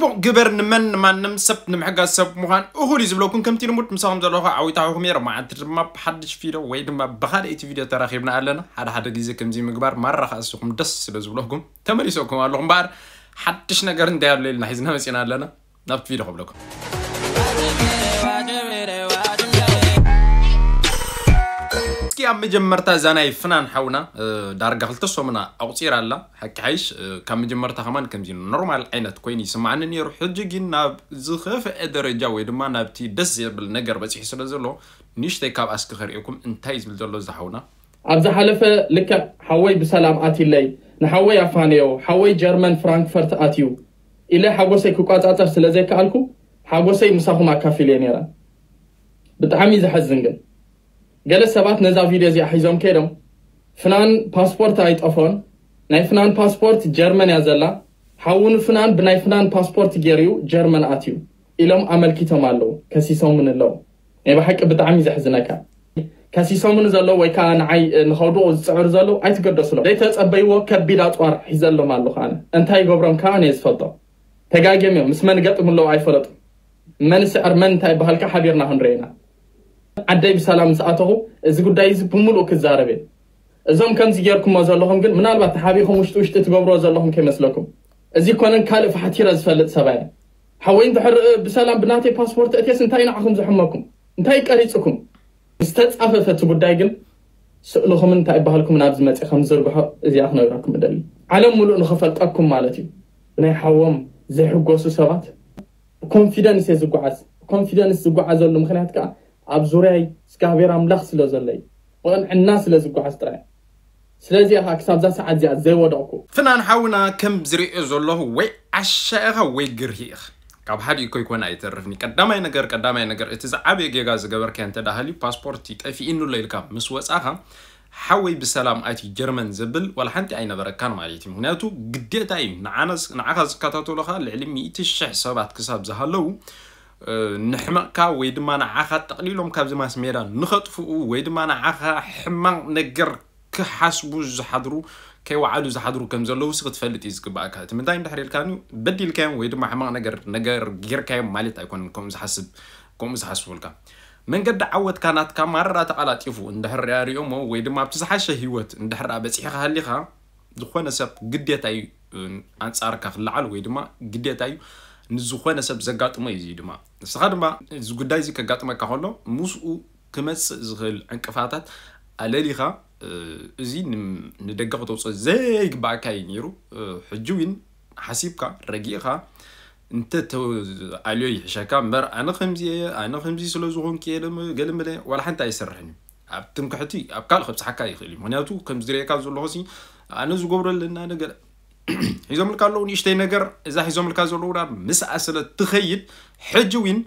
ጽቡቕ ግበር። ንመን ንማንም ሰብ ንምሕጋዝ ሰብ ምዃን እኹል እዩ ዝብለኩም። ከምቲ ልሙድ ምሳኹም ዘለኹ ዓዊታኹም እየ። መዓልቲ ድማ ብሓድሽ ቪድዮ ወይ ድማ ብኻልኣይቲ ቪድዮ ተራኺብና ኣለና። ሓደ ሓደ ግዜ ከምዚ ምግባር ማራ ከኣስኹም ደስ ስለ ዝብለኩም ተመሊሰኩም ኣለኹም። እምበኣር ሓድሽ ነገር እንታይ ኣሎ ኢልና ሒዝና መጺና ኣለና። ናብቲ ቪድዮ ከብለኩም። እስኪ ኣብ መጀመርታ እዛ ናይ ፍናን ሓውና ዳርጋ ክልተ ሰሙና ኣቑፂራ ኣላ። ሓቂ ሓይሽ ካብ መጀመርታ ከማን ከምዚ ኖርማል ዓይነት ኮይኑ ይስማዓኒ ነይሩ። ሕጂ ግን ናብ ዝኸፍአ ደረጃ ወይ ድማ ናብቲ ደስ ዘብል ነገር በፂሑ ስለ ዘሎ ንእሽተይ ካብ ኣስኪ ከርእየኩም እንታይ ዝብል ዘሎ ዝሓውና። ኣብ ዝሓለፈ ልክዕ ሓወይ ብሰላም ኣትለይ፣ ንሓወይ ኣፋነዮ፣ ሓወይ ጀርመን ፍራንክፈርት ኣትዩ ኢለ ሓጎሰይ ክቋጻጸር ስለ ዘይከኣልኩ ሓጎሰይ ምሳኹም ኣካፊለ ነይረ። ብጣዕሚ ዘሐዝን ግን ገለ ሰባት ነዛ ቪድዮ እዚኣ ሒዞም ከይዶም ፍናን ፓስፖርት ኣይጠፎን፣ ናይ ፍናን ፓስፖርት ጀርመን እያ ዘላ፣ ሓውኑ ፍናን ብናይ ፍናን ፓስፖርት ገይሩ ጀርመን ኣትዩ ኢሎም ኣመልኪቶም ኣለዉ፣ ከሲሶምን ኣለዉ። ናይ ብሓቂ ብጣዕሚ ዘሕዝነካ ከሲሶምኒ ዘለዉ ወይ ከዓ ንዓይ ንኸውድቑ ዝፅዕሩ ዘለዉ ኣይትገደስሎም። ዘይተፀበይዎ ከቢድ ኣፅዋር ሒዘሎም ኣለኹ ኣነ። እንታይ ይገብሮም ከዓ ኣነ እየ ዝፈልጦ። ተጋግዮም እዮም። ምስ መን ገጥሙ ኣለዉ ኣይፈለጡን። መን ይስዕር መን እንታይ ይበሃልካ ሓቢርና ክንሪኦ ኢና። ዓደይ ብሰላም ምስ ኣተኹ እዚ ጉዳይ እዚ ብምሉእ ክዛረብ እየ። እዞም ከምዚ ጌርኩሞ ዘለኹም ግን ምናልባት ተሓቢኹም ውሽጢ ውሽጢ ትገብርዎ ዘለኹም ከይመስለኩም። እዚ ኮነን ካልእ ፋሕቲረ ዝፈልጥ ሰብኣይ እየ። ሓወይ እንድሕር ብሰላም ብናተይ ፓስፖርት እትየስ እንታይ ንዓኹም ዝሕመኩም? እንታይ ቀሪፅኩም? ዝተፃፈፈ እቲ ጉዳይ ግን ስእልኹምን እንታይ ይበሃልኩም ናብዚ መፂ ከም ዝርግሖ እዚኣ ክነግረኩም እደሊ። ዓለም ሙሉእ ንኽፈልጠኩም ማለት እዩ። ብናይ ሓዎም ዘይሕጎሱ ሰባት ኮንፊደንስ እየ ዝጓዓዝ። ኮንፊደንስ ዝጓዓዘሉ ምኽንያት ከዓ ኣብ ዙርያይ እግዚኣብሔር ኣምላኽ ስለ ዘሎ እዩ። ብቕንዕና ስለ ዝጓዓዝ ጥራይ። ስለዚ ኢኻ ክሳብዛ ሰዓት እዚኣ ዘይወደቕኩ። ፍናን ሓውና ከም ዝርእዮ ዘለኹ ወይ ዓሻ ኢኻ ወይ ግርሂ ኢኻ። ካብ ሓደ እኮ ይኮን ኣይተርፍኒ። ቀዳማይ ነገር ቀዳማይ ነገር እቲ ዝዓበየ ጌጋ ዝገበርካዮ እንተ ደኣ ሃልዩ ፓስፖርት ጠፊእኑ ኣሎ ኢልካ ምስ ወጻኻ ሓወይ ብሰላም ኣትዩ ጀርመን ዝብል ዋላ ሓንቲ ኣይነበረካን ማለት እዩ። ምክንያቱ ግዴታ እዩ። ንዓና ዝ- ንዓኻ ዝከታተሉኻ ልዕሊ ሚእቲ ሽሕ ሰባት ክሳብ ዝሃለዉ እ፣ ንሕመቕካ ወይ ድማ ንዓኻ ጠቕሊሎም ካብዚ ማስ ሜዳ ንኸጥፍኡ ወይ ድማ ንዓኻ ሕማቕ ነገር ክሓስቡ ዝሓድሩ ከይወዓሉ ዝሓድሩ ከም ዘለዉ ሲ ክትፈልጥ እዩ ዝግባእካ። እቲ ምንታይ እንድሕር ኢልካኒ በዲልካዮም ወይ ድማ ሕማቕ ነገር ነገር ጌርካዮም ማለት ኣይኮነን። ከምኡ ዝሓስብ ከምኡ ዝሓስቡልካ መንገዲ ዓወትካ ናትካ ማራ ተቐላጢፉ እንድሕር ሪኦሞ ወይ ድማ ኣብቲ ዝሓሸ ህይወት እንድሕር በፂሕካ ሃሊኻ ዝኾነ ሰብ ግዴታ እዩ እ፣ ኣንፃርካ ክለዓል ወይ ድማ ግዴታ እዩ ንዝኾነ ሰብ ዘጋጥሞ እዩ እዚ ድማ ንስኻ ድማ እዚ ጉዳይ እዚ ከጋጥመካ ከሎ ምስኡ ክመፅእ ዝኽእል ዕንቅፋታት ኣለሊኻ እ፣ እዚ ን- ንደገ ክተውፅኦ ዘይግባእካ እዩ ነይሩ እ፣ ሕጂ እውን ሓሲብካ ረጊእኻ እንተ ኣልዮ ይሕሸካ እምበር ኣነ ከምዚ እየ ኣነ ከምዚ ስለ ዝኾንኩ እየ ገለመለ ዋላ ሓንቲ ኣይሰርሕን እዩ ኣብ ትምክሕቲ ኣብ ካልእ ከብፅሓካ ይኽእል እዩ ምክንያቱ ከም ዝሪኤካ ዘለኹ ሲ ኣነ ዝገብሮ ኣለና ነገር ሒዞምልካ ኣለዉ ንእሽተይ ነገር እዛ ሒዞምልካ ዘለዉ ዳ ምስኣ ስለ ትኸይድ ሕጂ ዊን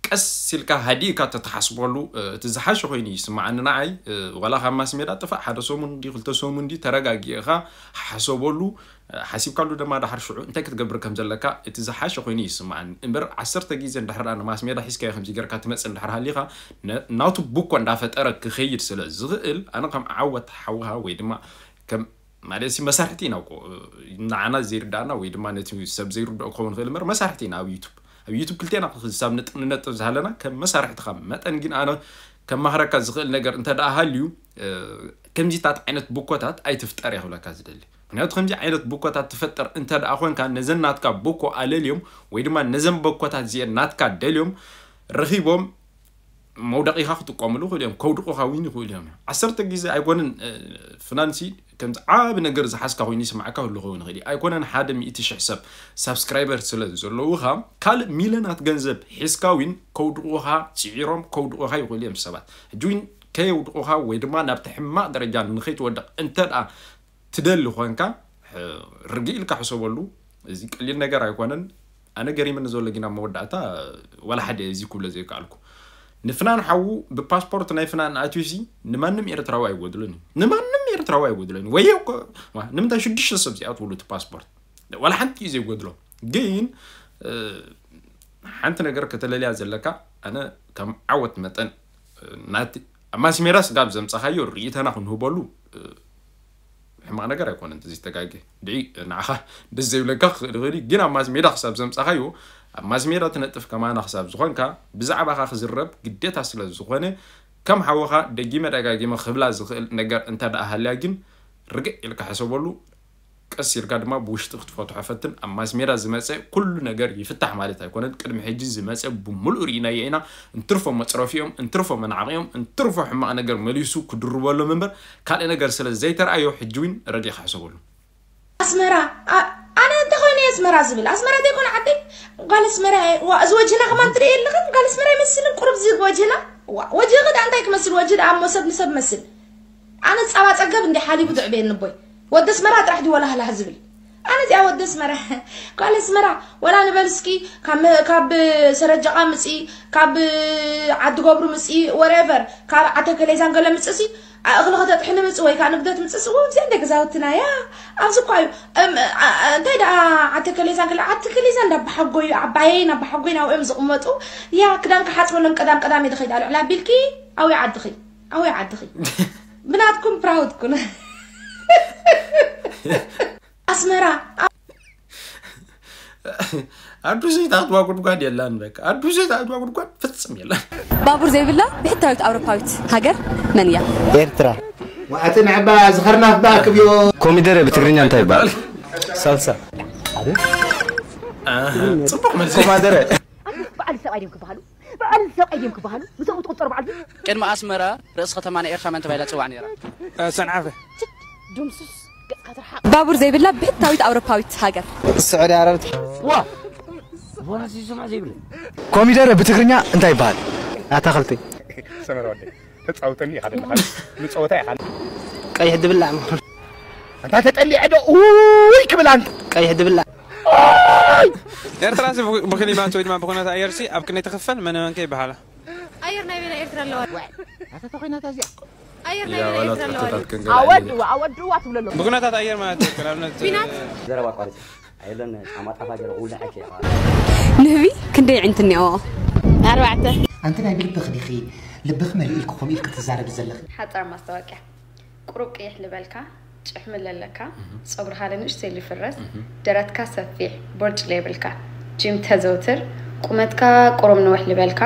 ቀስ ኢልካ ሃዲእካ ተተሓስበሉ እቲ ዝሓሸ ኮይኑ ይስምዓኒ ንዓይ ዋላ ካብ ማስ ሜዳ ጥፋእ ሓደ ሰሙን እንዲ ክልተ ሰሙን እንዲ ተረጋጊእኻ ሓሰበሉ ሓሲብካሉ ድማ ዳሓር ሽዑ እንታይ ክትገብር ከም ዘለካ እቲ ዝሓሸ ኮይኑ ይስምዓኒ እምበር ዓሰርተ ግዜ እንድሕር ንማስ ሜዳ ሒዝካዮ ከምዚ ጌርካ ትመፅእ እንድሕር ሃሊኻ ናቱ ቡኮ እንዳፈጠረ ክኸይድ ስለ ዝኽእል ኣነ ከም ዓወት ሓውሃ ወይ ድማ ከም ማለት ሲ መሳርሕቲ ኢና እኮ ንዓና ዘይርዳእና ወይ ድማ ነቲ ሰብ ዘይርድኦ ክኸውን ይኽእል እምበር መሳርሕቲ ኢና ኣብ ዩቱብ ኣብ ዩቱብ ክልቴና ክሳብ ንነጥብ ዝሃለና ከም መሳርሕትኻ መጠን ግን ኣነ ከማኽረካ ዝኽእል ነገር እንተ ደኣ ሃልዩ ከምዚታት ዓይነት ቡኮታት ኣይትፍጠር እያ ክብለካ ዝደሊ ምክንያቱ ከምዚ ዓይነት ቡኮታት ትፈጥር እንተ ደኣ ኮንካ ነዘን ናትካ ቡኮ ኣለልዮም ወይ ድማ ነዘን ቡኮታት እዚአን ናትካ ደልዮም ረኺቦም መውደቂኻ ክጥቀምሉ ይኽእሉ እዮም ከውድቑኻ እውን ይኽእሉ እዮም ዓሰርተ ግዜ ኣይኮንን ፍናንሲ ከምዚ ዓቢ ነገር ዝሓዝካ ኮይኑ ይስማዓካ ክህሉ ክኸውን ይኽእል እዩ ኣይኮነን ሓደ ሚእቲ ሽሕ ሰብ ሳብስክራይበር ስለ ዘለውኻ ካልእ ሚለናት ገንዘብ ሒዝካ እውን ከውድቑኻ ፅዒሮም ከውድቑኻ ይኽእሉ እዮም ሰባት ሕጂ እውን ከየውድቑኻ ወይ ድማ ናብቲ ሕማቕ ደረጃ ንኸይትወድቕ እንተ ደኣ ትደሊ ኮንካ ርግእ ኢልካ ሕሰበሉ እዚ ቀሊል ነገር ኣይኮነን ኣነ ገሪምኒ ዘሎ ግን ኣብ መወዳእታ ዋላ ሓደ እዚ ክብሎ ዘይከኣልኩ ንፍናን ሓዉ ብፓስፖርት ናይ ፍናን ኣትዩሲ ንማንም ኤርትራዊ ኣይጎድሎን እዩ ንማንም ኤርትራዊ ኣይጎድሎን እዩ ወየ እኮ ዋ፣ ንምንታይ ሽዱሽተ ሰብ እዚኣ ትብሉ እቲ ፓስፖርት ዋላ ሓንቲ እዩ ዘይጎድሎ ግን እ፣ ሓንቲ ነገር ከተለልያ ዘለካ ኣነ ከም ዓወት መጠን እ፣ ናቲ ኣብ ማስሜዳ ስጋብ ዘምፀኻዮ ርእይተና ክንህበሉ እ፣ ሕማቕ ነገር ኣይኮነን። እዚ ተጋጊ ድዒ ንዓኻ ደስ ዘይብለካ ክኽእል ይኽእል እዩ፣ ግን ኣብ ማስ ሜዳ ክሳብ ዘምጻኻዮ፣ ኣብ ማስ ሜዳ ትነጥፍ ከማና ክሳብ ዝኾንካ፣ ብዛዕባኻ ክዝረብ ግዴታ ስለ ዝኾነ፣ ከም ሓወኻ ደጊመ ደጋጊመ ክብላ ዝኽእል ነገር እንተ ደኣ ሃልያ ግን፣ ርግእ ኢልካ ሕሰበሉ። ቀስ ኢልካ ድማ ብውሽጢ ክትፈትሖ ፈትን። ኣብ ማስ ሜዳ ዝመጸ ኩሉ ነገር ይፍታሕ ማለት ኣይኮነን። ቅድሚ ሕጂ ዝመጸ ብምሉእ ርኢናዮ ኢና። እንትርፎ መጽረፊኦም፣ እንትርፎ መናዕቂኦም፣ እንትርፎ ሕማቕ ነገር መሊሱ ክድርበሎም እምበር ካልእ ነገር ስለ ዘይተረኣዮ ሕጂ እውን ረዲኻ ሕሰበሉ። ኣስመራ፣ ኣ-፣ ኣነ እንተኾይነ ኣስመራ ዝብል፣ ኣስመራ ዘይኮነ ዓደይ፣ ጓል ኣስመራ እየ። ዋ፣ እዚ ወጅህና ከማን ትርኢ የለኽን? ጓል ኣስመራ ይመስልን ቁሩብ ዝግ ወጅህና። ዋ፣ ወጅህ ከ እንታይ ክመስል? ወጅህ ደኣ እሞ ሰብ ንሰብ መስል። ኣነ ጻባ ጸገብ እንዲ ሓሊቡ ትዕበየኒ ቦይ። ወዲ ኣስመራ ጥራሕ ድዩ ወላህላህ ዝብል? ኣነ እዚኣ ወዲ ኣስመራ፣ ጓል ኣስመራ፣ ወላ ንበል እስኪ፣ ካብ መ-፣ ካብ ሰረጀቓ ምጺ፣ ካብ ዓዲ ገብሩ ምጺ፣ ወሬቨር፣ ካብ ዓተከሌዛን ገለ ምጽእ ሲ፣ ኣ-፣ እኽሊ ከተጥሕኒ ምጽእ ወይ ከኣ ንግደት ምጽእ ሲ፣ እዎ፣ እዚኣ እንደ ገዛውትና እያ። ኣብዚ እኳ እዩ። እም፣ ኣ-፣ ኣ-፣ እንታይ ደኣ ዓተከሌዛን ገለ፣ ዓተከሌዛን እንዳ ኣባሓጎዩ፣ ዓባየይ፣ ናብ ኣባሓጎይ ናብኦም ዝቕመጡ፣ ያ፣ ክዳን ክሓጽበሎም ቀዳም ቀዳም እየ ዝኸይድ፣ ኣልዕል ኣቢልኪ፣ ኣውይ ዓድኺ፣ ኣውይ ዓድኺ። ብናትኩም ፕራውድ ኩን። ኣስመራ። ኣዱ ዘይትኣትዋ ጉድጓድ የላን። በቃ ኣዱ ዘይትኣትዋ ጉድጓድ ፍጽም የላን። ባቡር ዘይብላ ብሕታዊት ኣውሮፓዊት ሃገር መን እያ? ኤርትራ። ወኣቲ ንዕባ ዝኸርናፍ ባክብዮ። ኮሚደረ ብትግርኛ እንታይ ይባላል? ሳልሳ። ኣህ፣ ጽቡቕ መልሲ። ኮማደረ። ኣንቱስ በዓል ሰብኣይ ድዮም ክበሃሉ? በዓል ሰብኣይ ድዮም ክበሃሉ? ምስኦም ትቑጸሩ በዓል ድዩ? ቅድሚ ኣስመራ ርእሲ ከተማ ናይ ኤርትራ መን ተባሂላ ትጽዋዕ ነይራ? እ፣ ሰንዓፈ። ችድ፣ ድምሱስ፣ ገጽካ ትርሓቕ። ባቡር ዘይብላ ብሕታዊት ኣውሮፓዊት ሃገር። ስዑዲ ዓረብ። ዋ! ዋ፣ እዚ ዝስማዕ ዘይብለይ። ኮሚደረ ብትግርኛ እንታይ ይበሃል? ኣታኽልቲ። ሰመረ ወደይ፣ ተጻውተኒ ኢኻ ዘለኻ። ንጸወታ ኢኻ። ቀይሕ ድብላዕ። ኣንታ ተጠሊዐ ዶ ኡይ ክብል ኣንታ። ቀይሕ ድብላዕ። ኤርትራ ሲ ብ-፣ ብክሊማት ወይ ድማ ብኩነታት ኣየር ሲ ኣብ ክንደይ ትኽፈል? መን መን ከ ይበሃላ? ኣየር ናይ በይና ኤርትራ ኣለዋ። ኣታ ተኾይናታ እዚኣ። ኣየር ናይ ያ በይና ወላ ኤርትራ ኣለዋ። ተፈታት ክንገላ ኣወድዋ፣ ኣወድዋ ትብለሎ። ብኩነታት ኣየር ማለት እዩ። ንኣብነት፣ ቢናት። ዘረባ ኣቋርጽ። ኣየለን ጫማ ጣፋ ገለ ውልዐ ከይዋ። ንህቢ ክንደይ ዕንት እኒኦ? ኣርባዕተ። ኣንቲ ናይ ብልብኺ ዲኺ ልብኺ መሊኡ ኢልኪ ከምኡ ኢልኪ ትዛረቢ ዘለኺ? ሓጻር ማስታወቅያ። ቁሩብ ቅይሕ ልበልካ፣ ጭሕሚ ለለካ፣ እህ። ጸጉርኻ ለንእሽተይ ልፍረስ፣ እህ። ደረትካ ሰፊሕ፣ ቦርጭ ለይብልካ፣ ጂም ተዘውትር፣ ቁመትካ ቁሩብ ንውሕ ልበልካ፣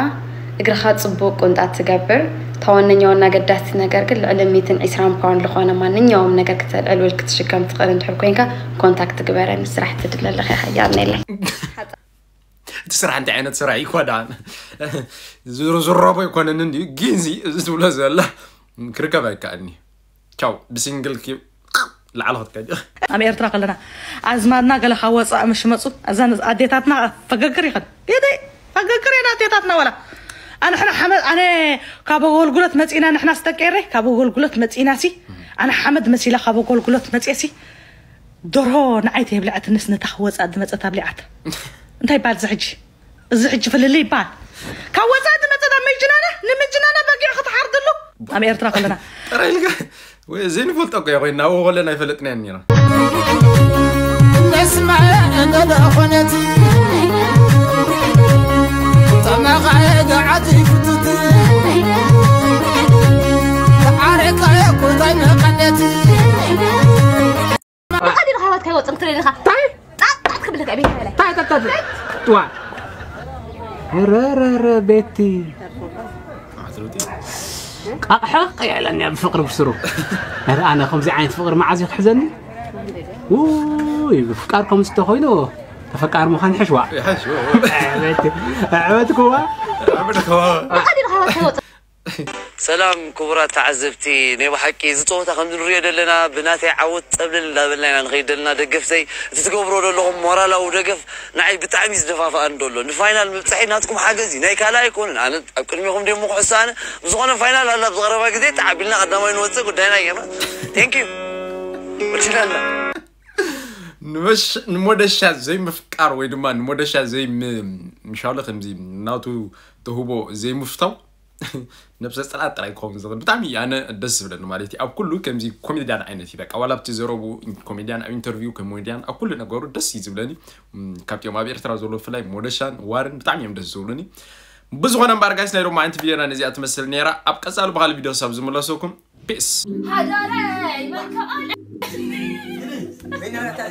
እግርኻ ጽቡቕ ቁንጣ ትገብር፣ እታ ዋነኛ ዋና ኣገዳሲ ነገር ግን ልዕሊ ሚእትን ዕስራን ፓውንድ ልኾነ ማንኛውም ነገር ክተልዕል ወይ ክትሽከም ትኽእል እንድሕር ኮይንካ ኮንታክት ግበረኒ፣ ስራሕ ትድሊ ኣለኻ፣ ሓያል ነይለይ። እቲ ስራሕ እንታይ ዓይነት ስራሕ እዩ? ኮዳን ዝሮ-፣ ዝረቦ ኣይኮነን እንድዩ፣ ግን እዚ፣ እዚ ትብሎ ዘላ ክርከብ ኣይከኣልኒ። ቻው፣ ብሲንግል ኪ-፣ ላዕሊ ክትከዲ። ኣብ ኤርትራ ከለና ኣዝማድና ገለ ካብ ወጻኢ ምሽ መጹ፣ እዘን ኣዴታትና ፈገግር ይኸን። ጌደይ፣ ፈገግር የን ኣዴታትና ወላ። ኣንሕና ሓመድ፣ ኣነ ካብ ኣገልግሎት መጺና፣ ንሕና ስደቂ ኤረይ፣ ካብ ኣገልግሎት መጺና ሲ፣ ኣነ ሓመድ መሲላ ካብ ኣገልግሎት መጽየ ሲ፣ ደርሆ ንዓይ ተይብልዐትንስ ነታ ክወጻ ዝመጸት ኣብሊዓት። እንታይ ይባል እዚ ሕጂ? እዚ ሕጂ ፍልልይ ይባል። ካብ ወጻኢ ዝመጸት ኣብ ምጅናና፣ ንምጅናና በጊዕ ክትሓርድሉ። ኣብ ኤርትራ ከለና። ጥራይ ኢልካ፣ ወይ ዘይንፈልጦ እኮ እያ ኮይና፣ ኣብኡ ከለና ኣይፈለጥናያን ነይራ። ነስማዕ እንደ ኾነት፣ ተመኻየ ገዓት ይፍትት፣ ተዓረቀ ኮታይ መቐነት። ብኻዲ ንኻባት ካይወፅን ክትርኢ ኢኻ። ታይ? ጣጣት ክብልካ ቤት በላይ። ታይ፣ ታይ፣ ታይ፣ ታይ? ዋ። ረ፣ ረ፣ ረ፣ ቤቲ። ቃቕሐቕ እያ ኢላኒ ኣብ ፍቕሪ ብስሩ። ኧረ ኣነ ከምዚ ዓይነት ፍቕሪ መዓዝ እዩ ክሕዘኒ? ውይ፣ ፍቃር ከምዚ ተኾይኑ ተፈቃሪ ምዃን ይሕሽ ዋ። ይሕሽ ዋ። ኣዕበትክዋ። ኣዕበትክዋ። ብኻዲ ንኻባት ካይወፅን ሰላም ክቡራት ተዓዘብቲ፣ ናይ ብሓቂ እዚ ጸወታ ከም እንሪኦ ዘለና ብናተይ ዓወት ጸብለል እንዳበልና ኢና ንኸይድ ዘለና። ደገፍተይ፣ እቲ ትገብርዎ ዘለኹም ሞራላዊ ደገፍ ንዓይ ብጣዕሚ እዩ ዝደፋፍኣኒ ዘሎ። ንፋይናል ምብጻሐይ ናትኩም ሓገዝ እዩ፣ ናይ ካልእ ኣይኮነን። ኣነ ኣብ ቅድሜኹም ድየ እሞ ክሕሱ ኣነ? ብዝኾነ ፋይናል ኣላ፣ ኣብዚ ቀረባ ግዜ ተዓቢልና ቀዳማይ ንወጽእ ጉዳይና ጌርና። Thank you። ወዲናልና። ንመሽ-፣ ንሞደሻ ዘይምፍቃር ወይ ድማ ንሞደሻ ዘይም-፣ ምሻሉ ከምዚ ናቱ ተህቦ ዘይምፍታው ነብሰ ጸላእቲ ጥራይ ክኸውን ዝኽእል። ብጣዕሚ እዩ ኣነ ደስ ዝብለኒ ማለት እዩ። ኣብ ኩሉ ከምዚ ኮሜድያን ዓይነት እዩ። በቃ ዋላ ኣብቲ ዘረቡ ኮሜድያን፣ ኣብ ኢንተርቪው ኮሜድያን፣ ኣብ ኩሉ ነገሩ ደስ እዩ ዝብለኒ። እም፣ ካብቲኦም ኣብ ኤርትራ ዘሎ ብፍላይ ሞደሻን ዋርን ብጣዕሚ እዮም ደስ ዝብሉኒ። ብዝኾነ እምበኣር ጋይስ ናይ ሎማዓንቲ ቪድዮና ነዚኣ ትመስል ነይራ። ኣብ ቀጻሊ ብኻልእ ቪድዮ ክሳብ ዝምለሰኩም ፒስ። ሃገረይ መከኣለ The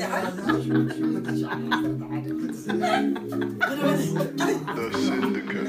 Syndicate.